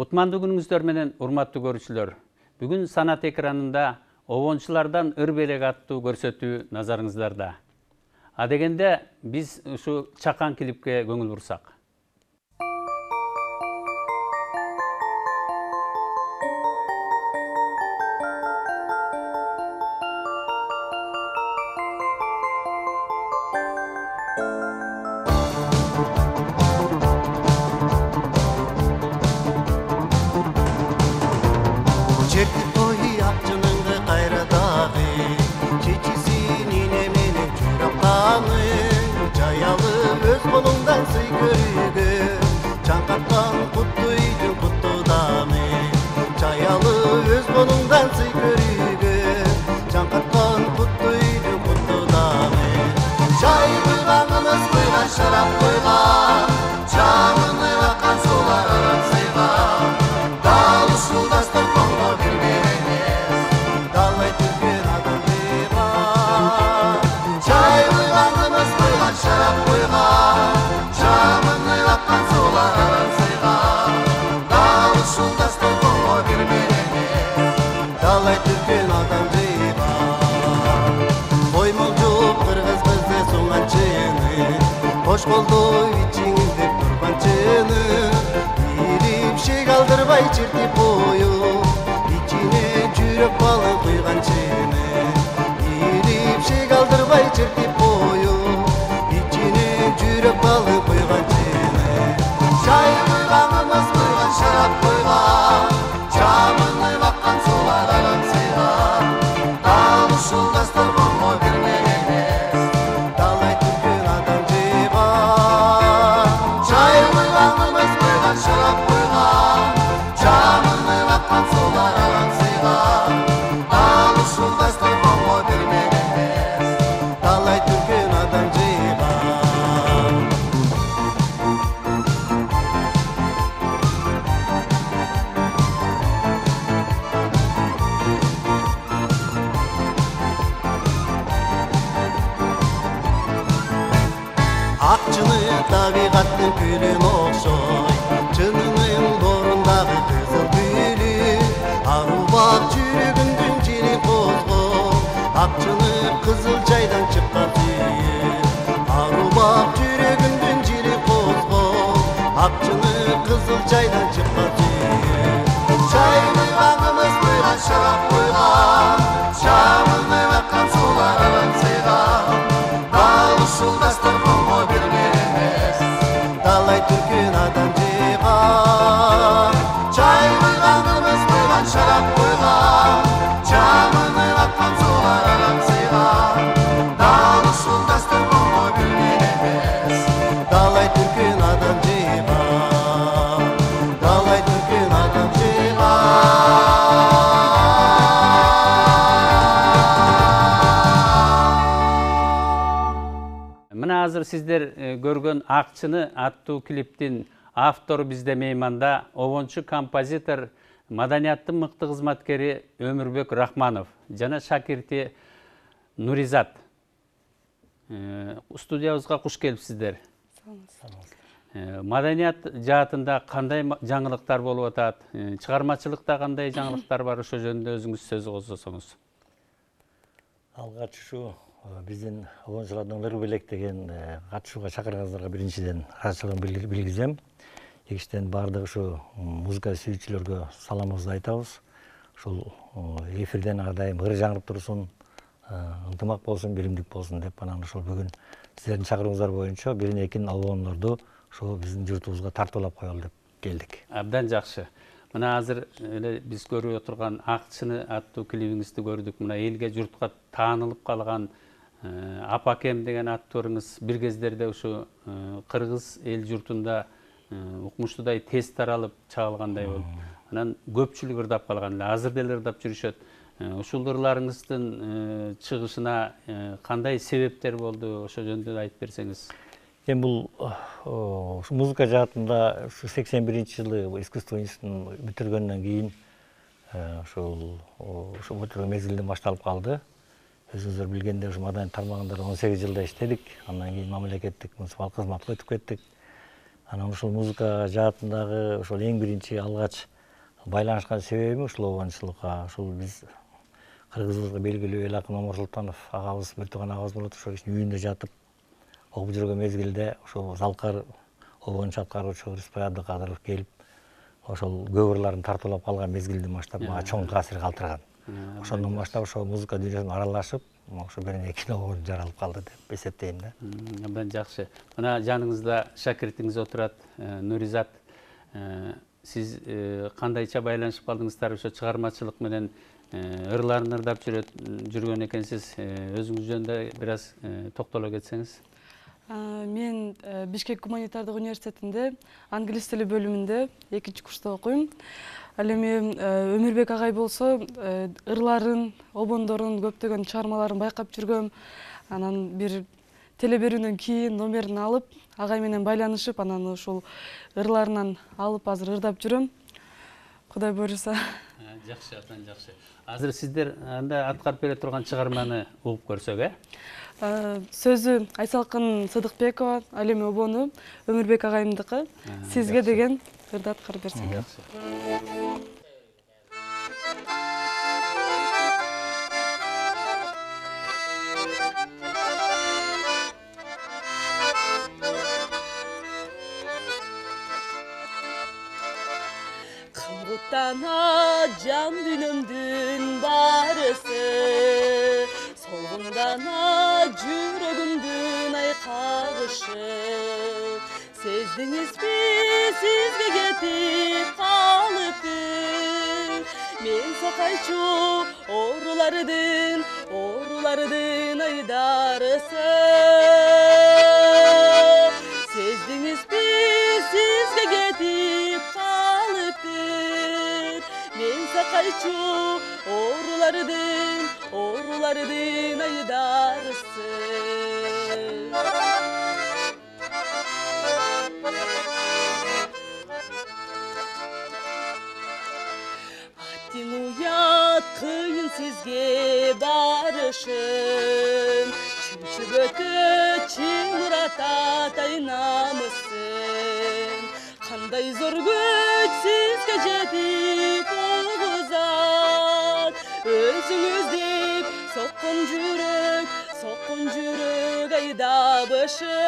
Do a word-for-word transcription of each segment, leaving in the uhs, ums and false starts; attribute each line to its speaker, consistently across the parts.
Speaker 1: Кутмандуу күнүңүздөр менен урматтуу көрүүчүлөр. Бүгүн санат экранында обончулардан ыр белек аттуу көрсөтүү назарыңыздарда. А дегенде биз ушу чакан клипке көңүл бурсак.
Speaker 2: Şarap koygan, camını akan sular aransıygan, dal usuldaştır kongo bilmeyiz, dalay Türk'ün adam duygan. Çay koyganımız koygan, şarap koygan, camını akan sular aransıygan, dal usuldaştır kongo bilmeyiz, dalay Türk'ün adam duygan. Koymulcuk kırgız kızı soğançını, Hoş koldu içingizde turbançını, bir şey kaldırmay çirtip koyup, içine çürük balı koygançını, bir şey kaldırmay çirtip koyup, içine çürük balı koygançını. Çay koyganımız koygan, şarap koygan, camını bakkan sular aransıygan, dal usuldaştır kongo bilmeyiz, dalay Türk'ün adam şarap koygan, camını bakkan sular aransıygan, dal usuldaştır kongo bilmeyiz, dalay Türk'ün adam cıygan. Akçını tabiqattın külün okşoy, Çınının borundağı kızıl gülü, arubak çürügündün jiri kozgo, akçını kızıl çaydan çıkkan suyu. Arubak çürügündün jiri kozgo, akçını kızıl çaydan çıkkan suyu. Çay koyganımız koygan, şarap koygan, camını bakkan sular aransıygan, dal usuldaştır kongo bilmeyiz, dalay Türk'ün adam cıygan. Çay koyganımız koygan, şarap koygan, camını bakkan sular aransıygan, dal usuldaştır kongo bilmeyiz, dalay Türk'ün adam cıygan, dalay Türk'ün adam cıygan.
Speaker 1: Мына азыр сиздер көргөн Акчыны аттуу клиптин автору бизде мейманда обончу композитор, маданияттын мыкты кызматкери Өмүрбек Рахманов жана шакирти Нуризат. Студиябызга куш келипсиздер. Маданият жаатында кандай жаңылыктар болуп атат? Чыгармачылыкта кандай жаңылыктар бар? Ошо жөнүндө өзүңүз сөз козгосоңуз.
Speaker 3: Алгач ушу биздин обончулардын ыр белек деген катышууга чакырганыңыздарга биринчиден ыраазычылыгымды билгизем. Экинчиден баардык ушу музыка сүйүүчүлөргө саламыбызды айтабыз. Ушул эфирден ар дайым ыр жаңырып турсун, ынтымак болсун, биримдик болсун деп анан ушул бүгүн сиздердин чакырууңуздар боюнча бирин экин обондорду ушул биздин журтубузга тартуулап коелу деп келдик.
Speaker 1: Абдан жакшы. Мына азыр эле биз көрүп отурган Акчыны аттуу клибиңизди көрдүк. Мына элге журтка таанылып калган Апакем деген аттууңуз бир кездерде ушу кыргыз эл журтунда укмуштуудай тез таралып чыгалгандай болуп, анан көпчүлүк ырдап калган эле, азыр деле ырдап жүрүшөт. Ушул ырларыңыздын чыгышына кандай себептер болду? Ошо жөнүндө айтып берсеңиз.
Speaker 3: Эми бул музыка жаатында ушу сексен биринчи жылы искусство институтун бүтүргөндөн кийин ушул ошо бүтүргөн мезгилинен башталып калды. Өзүңүздөр билгендей, ушу маданият тармагында он сегиз жылда иштедик. Андан кийин мамлекеттик муниципалдык кызматка өтүп кеттик. Анан ушул музыка жаатындагы ошол эң биринчи алгач байланышкан себебим ушул обончулукка. Ушул биз кыргызыбызга белгилүү эл акын Омар Султанов агабыз, бир тууган агабыз болот. Ошол кишинин үйүндө жатып окуп жүргөн мезгилде ошол Залкар обончу аткаруучу Рыспай Абдыкадыров келип, ошол көп ырларын тартуулап калган мезгилден баштап мага чоң таасир калтырган. Ошондон баштап ошо музыка дүйнөсүнө аралашып, ошо бир кино жаралып калды деп эсептейм да.
Speaker 1: Абдан жакшы. Мына жаныңызда шакиртиңиз отурат, Нуризат. Сиз кандайча байланышып калдыңыздар ошо чыгармачылык менен? Ырларын ырдап жүргөн экенсиз. Өзүңүз жөнүндө бир аз токтоло кетсеңиз.
Speaker 4: Мен Бишкек гуманитардык университетинде англис тили бөлүмүндө экинчи курста окуйм. Ал эми Өмүрбек агай болсо ырларын, обондорун, көптөгөн чыгармаларын байкап жүргөм. Анан бир теле берүүнөн кийин номерин алып, агай менен байланышып, анан ушул ырларынан алып азыр ырдап жүрөм. Кудай буйруса.
Speaker 1: Жакшы, абдан жакшы. Азыр сиздер анда аткарып бере турган чыгарманы угуп көрсөк, э?
Speaker 4: Сөзү Айсалкын Сыдыкбекова, ал эми обону Өмүрбек агайымдыкы. Сизге деген ырды аткарып берсем.
Speaker 5: Кымгыттана жан дүйнөмдүн барысы, солгундана жүрөгүмдүн айкагышы. Сездиңизби сизге кетип калыпты, мен сакайчу оорулардын, оорулардын айдарысы. Сездиңизби сизге кетип калыпты, мен сакайчу оорулардын, оорулардын айдарысы. Аттиң уят кыйын сизге барышын, чүнчүгөтө чыңыратат айнамысын. Кандай зор күч сизге жетип огузат, өзүңүз деп соккон жүрөк, соккон жүрөк айдабышы.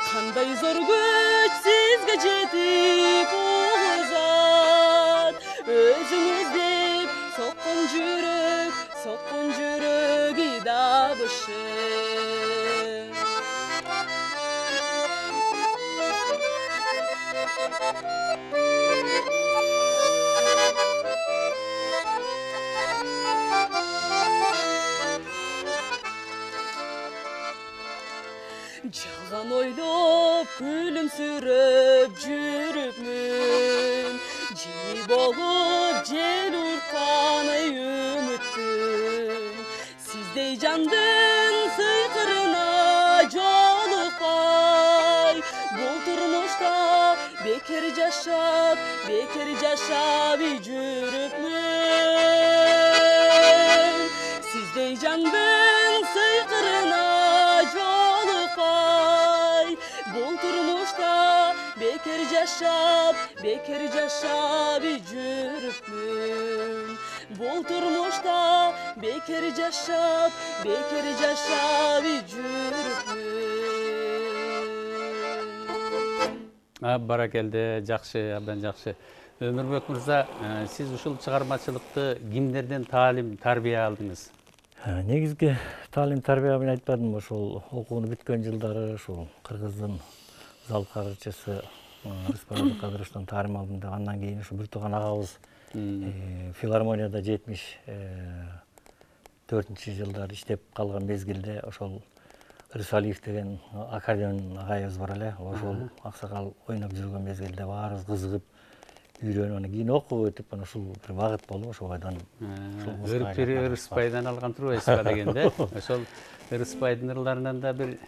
Speaker 5: Кандай зор күч сизге жетип огузат, өзүңүз деп соккон жүрөк, соккон жүрөк айдабышы. Жалган ойлоп күлүмсүрөп жүрүпмүн, жини болуп жел урткан ай үмүттүн. Сиздей жандын сыйкырына жолукпай, бул турмушта бекер жашап, бекер жашап жүрүпмүн. Сиздей жандын сыйкырына жолукпай, бул турмушта бекер жашап, бекер жашап жүрүпмүн. Бул турмушта бекер жашап, бекер жашап жүрүпмүн.
Speaker 1: Баракелде, жакшы, абдан жакшы. Өмүрбек мырза, сиз ушул чыгармачылыкты кимдерден таалим, тарбия алдыңыз?
Speaker 3: Негизги таалим тарбия мен айтпадым, ошол окууну бүткөн жылдары ушул кыргыздын залкарчысы Рыспай Абдыкадыровдон таалим алдым деп, андан кийин ушу бир тууган агабыз филармонияда жетимиш төртүнчү жылдары иштеп калган мезгилде ошол Рысалиев деген аккордеон агайыбыз бар эле, ошол аксакал ойноп жүргөн мезгилде баарыбыз кызыгып үйрөнүп, анан кийин окуп өтүп, анан ушул бир багыт болуп, ошол бойдон
Speaker 1: Өрүктүр Рыспайдан алган турбайсызбы дегенде, ошол Рыспайдын ырларынан да бир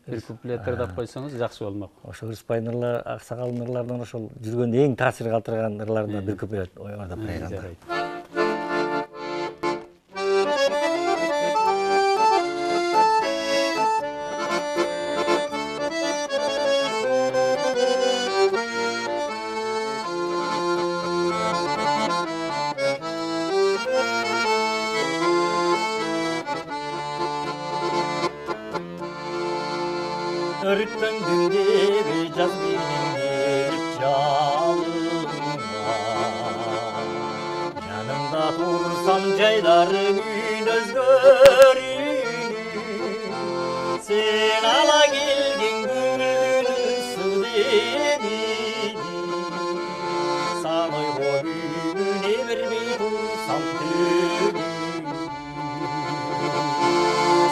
Speaker 1: бир куплет ырдап койсоңуз жакшы болмок.
Speaker 3: Ошол Рыспайдын ырлары, аксакалдын ырларынан ошол жүргөндө эң таасир калтырган ырларынан бир куплет ырдап берейин. өрттөндүң деп жаз менен келип жалынга жанымда турсам жайларың үн өзгөрүүнү сен ала келген көңүлдүн судебини сан ойгонүүнү бербей турсам түгү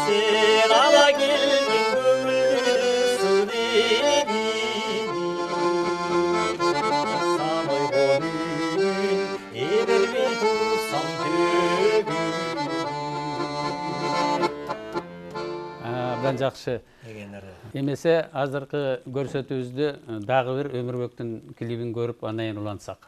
Speaker 3: sen ala geldin gönlümün sudebini Sanoy gönlümün eber bir tursam tügün
Speaker 1: Абдан жакшы. Эмесе азыркы көрсөтүүбүздү дагы бир Өмүрбектин клибин көрүп андан кийин улантсак.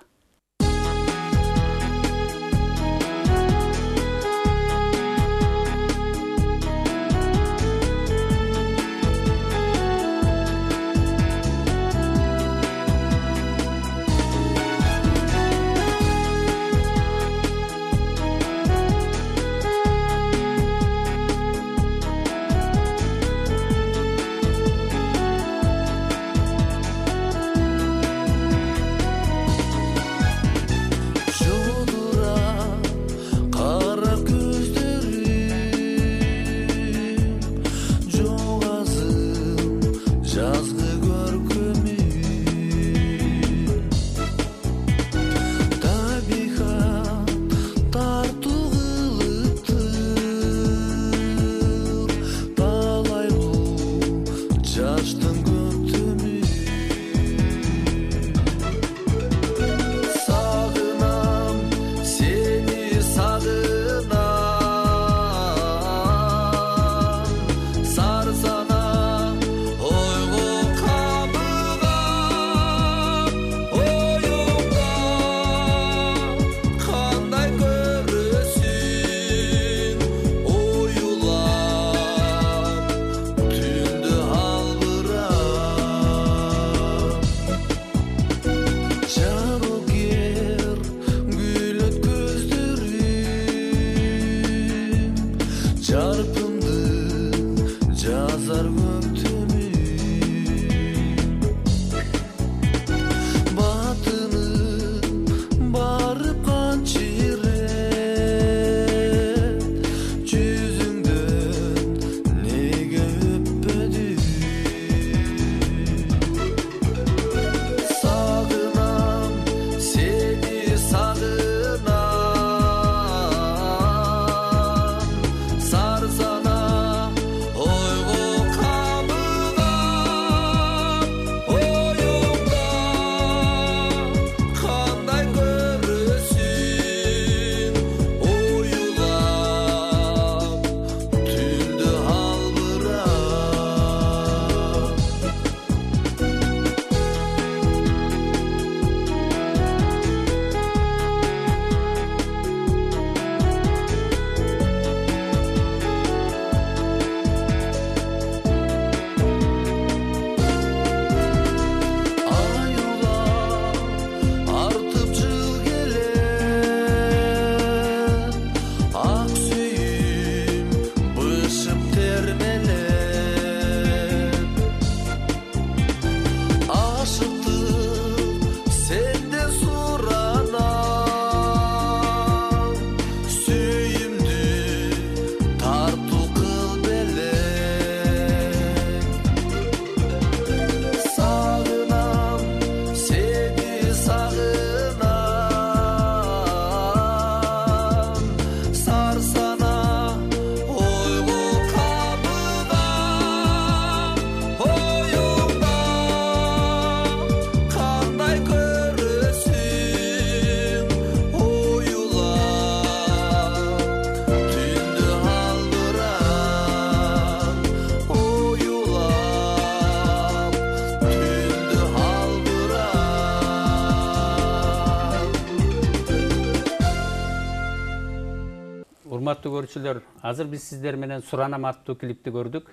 Speaker 1: Урматтуу көрүүчүлөр, азыр биз сиздер менен Суранам аттуу клипти көрдүк.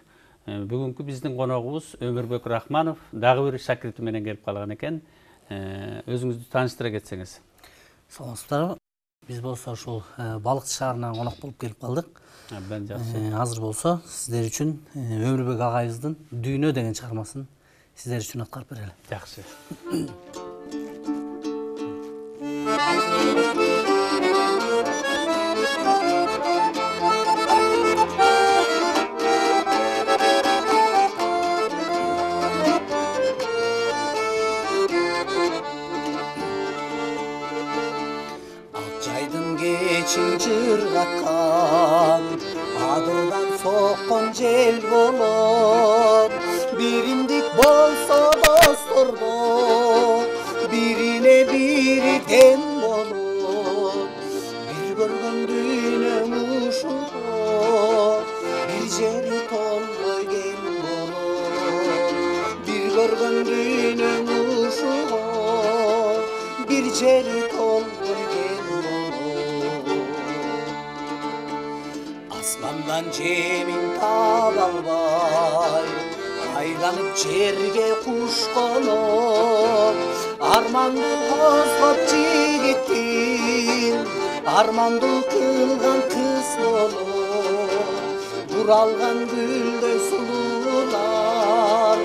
Speaker 1: Бүгүнкү биздин коногубуз Өмүрбек Рахманов дагы бир шакирти менен келип калган экен. Өзүңүздү тааныштыра кетсеңиз.
Speaker 6: Саламатсыздарбы? Биз болсо ушул Балыкчы шаарынан конок болуп келип калдык.
Speaker 1: Абдан жакшы.
Speaker 6: Азыр болсо сиздер үчүн Өмүрбек агайыбыздын Дүйнө деген чыгармасын сиздер үчүн аткарып берели.
Speaker 1: Жакшы.
Speaker 7: Кечин жыргаткан адырдан соккон жел болот, биримдик болсо достордо бирине бири тем болот. Бир көргөн дүйнөм ушул, бир жери толбой кем болот. Бир көргөн дүйнөм ушул, бир жери толбой кем болот. Асмандан жемин таба албай айланып жерге куш конот, арманды козгоп жигиттин арманды кылган кыз болот. Буралган гүлдөй сулуулар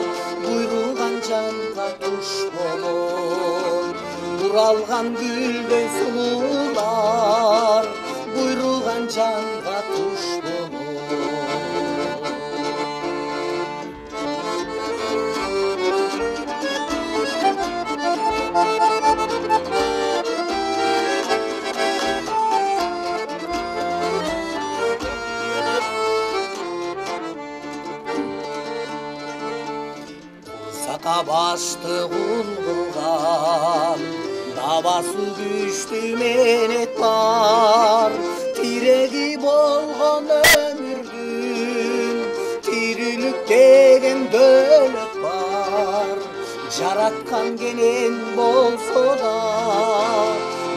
Speaker 7: буйруган жанга туш болот. Буралган гүлдөй сулуулар буйруган жанга туш болот. Сака башты кул кылган бабасы күчтүү менет бар. Тиреги болгон өмүрдүн тирилик деген дөлөт бар. Жараткан кенен болсо да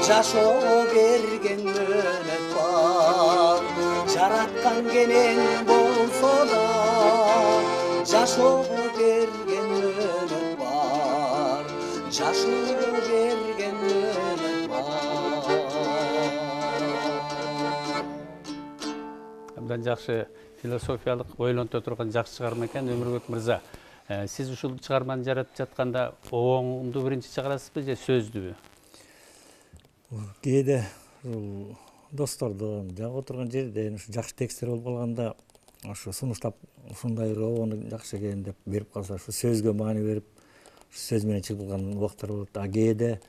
Speaker 7: жашоо берген мөнөт бар. Жараткан кенен болсо да жашоо берген мөнөт бар. Жашоо берген мөнөт бар.
Speaker 1: Абдан жакшы философиялык ойлонто турган жакшы чыгарма экен Өмүрбек мырза. Сиз ушул чыгарманы жаратып жатканда оңду биринчи чыгарасызбы же сөздүбү?
Speaker 3: Кээде достордон жак отурган жерден ушу жакшы тексттер болуп калганда ушу сунуштап ушундай ровону жакшы экен деп берип калса ушу сөзгө маани берип сөз менен чыгып калган убактар болот. А кээде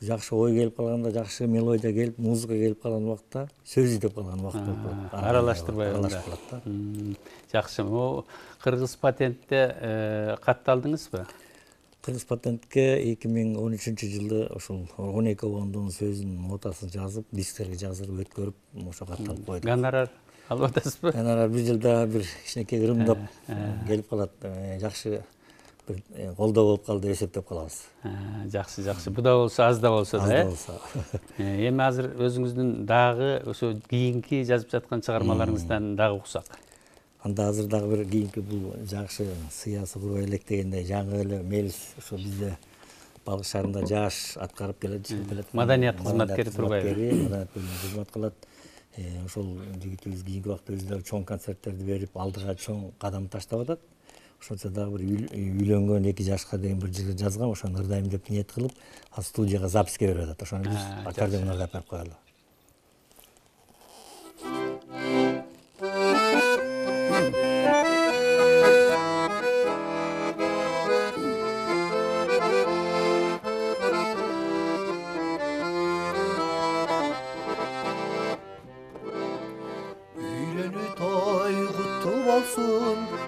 Speaker 3: жакшы ой келип калганда, жакшы мелодия келип, музыка келип калган убакта сөз издеп калган убакт болуп калат.
Speaker 1: Аралаштырбай
Speaker 3: аралашып калат да.
Speaker 1: Жакшы. О кыргыз патентте катталдыңызбы?
Speaker 3: Кыргыз патентке эки миң он үчүнчү жылы ошол он эки обондун сөзүнүн нотасын жазып, дисктерге жаздырып өткөрүп, ошо катталып койдук.
Speaker 1: Гонорар алып атасызбы?
Speaker 3: Гонорар бир жылда бир кичинекей ырымдап келип калат. Жакшы бир колдоо болуп калды деп эсептеп калабыз.
Speaker 1: Жакшы, жакшы. Бу да болсо, аз да болсо да, э?
Speaker 3: болсо.
Speaker 1: Эми азыр өзүңүздүн дагы ошо кийинки жазып жаткан чыгармаларыңыздан дагы уксак.
Speaker 3: Анда азыр дагы бир кийинки бул жакшы сыясы курбай элек дегендей жаңы эле мелис ошо бизде Балык шаарында жаш аткарып келет.
Speaker 1: Маданият кызматкери турбайбы?
Speaker 3: Маданият бөлүмүндө кызмат кылат. Ошол жигитибиз кийинки убакта өзү дагы чоң концерттерди берип, алдыга чоң кадам таштап атат. Ошончо дагы бир үйлөнгөн эки жашка деген бир жыр жазгам, ошону ырдайм деп ниет кылып, ал студияга записке берип атат. Ошону биз аккордеонго алып коелу.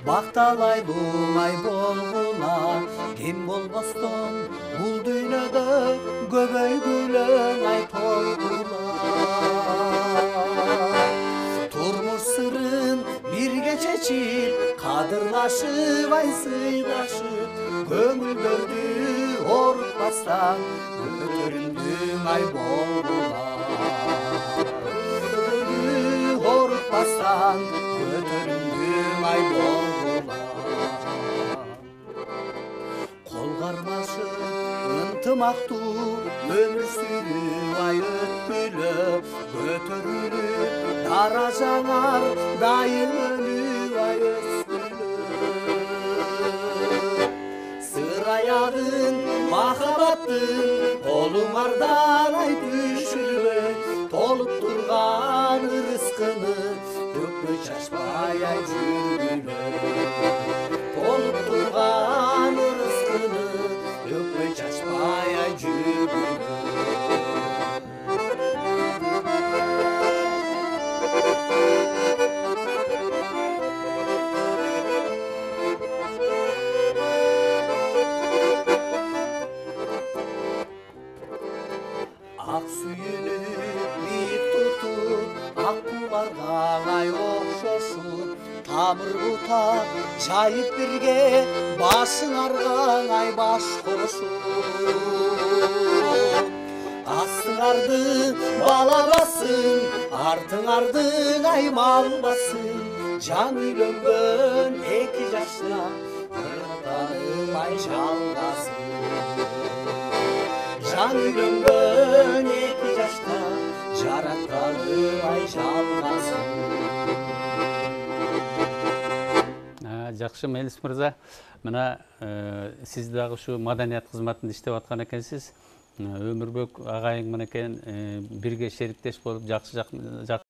Speaker 7: Бакталай булай болгула, кем болбостон бул дүйнөдө көбөйгүлөң ай толгула. Турмуш сырын бирге чечип, кадырлашып ай сыйлашып, көңүлдөрдү орутпастан көтөрүмдүң ай болгула. Орутпастан көтөрүмдүң ай болгула. Кол кармашып ынтымак сыймактуу өмүр сүрүп ай өткүлөп көтөрүлүп даражаңар дайым өнүп ай өскүлөп сыр аягын махабаттын колуңардан ай түшүрбөй толуп турган ырыскыны төкпөй чачпай ай жүргүлөп толуп турган ырыскыны төкпөй чачпай ай жүргүлөп ак сүйүнү бийик тутуп ак кумарга ай окшошуп тамыр бутак жайып бирге башыңарга ай баш кошуп астыңарды бала бассын артыңардын ай мал бассын жан үйлөнгөн эки жашта ырыктанып ай жалгасын жан үйлөнгөн эки жашта жараттанып ай жалгасын
Speaker 1: жакшы Мелис мырза, мына сиз дагы ушу маданият кызматында иштеп аткан экенсиз. Өмүрбек агайың менен бирге шериктеш болуп жакшы